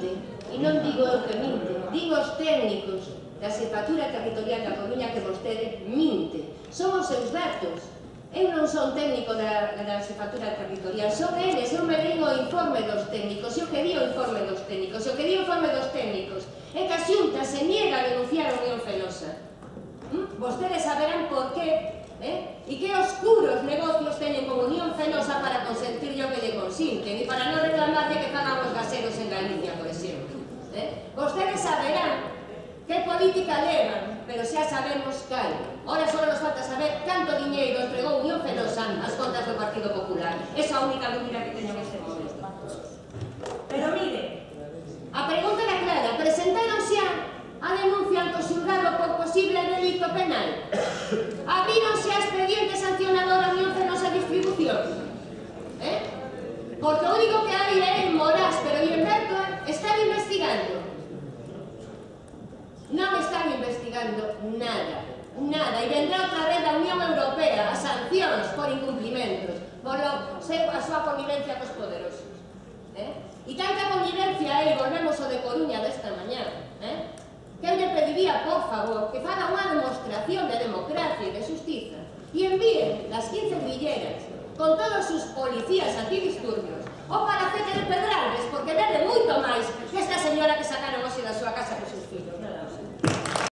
minte, e non digo eu que minte, digo os técnicos da Xefatura Territorial da Coruña que vostede minte. Son os seus datos. Eu non son técnico da Xefatura Territorial, son eles, eu me digo o informe dos técnicos, e o que di o informe dos técnicos, e o que di o informe dos técnicos é que a Xunta se niega a denunciar a Unión Fenosa. Vostedes saberán por qué, e que oscuros negocios teñen con Unión Fenosa para consentir o que lle consinten, e para non reclamarlle que fagan os gaseros en Galicia, por exemplo. Vostedes saberán que política levan, pero xa sabemos cal. Ora só nos falta saber canto diñeiro entregou Unión Fenosa ás contas do Partido Popular. Esa é a única dúbida que teño neste momento. Pero mire, a pregunta era clara. Presentaron xa a denuncia ante o xulgado por posible delito penal? Abríronse a expediente sancionador a Unión Fenosa Distribución? Porque o único que hai é en Morás, pero en Berto están investigando. Non están investigando nada, nada, e vendrá outra vez da Unión Europea as sancións por incumplimentos, por a súa connivencia cos poderosos. E tanta connivencia hai, volvemos ao de Coruña desta mañá, que eu lle pediría, por favor, que faga unha demostración de democracia e de justiza e envíen las 15 grilleras con todos os policías antidisturbios ao palacete de Pedralbes, porque vende moito máis que esta señora que sacaron hoxe da súa casa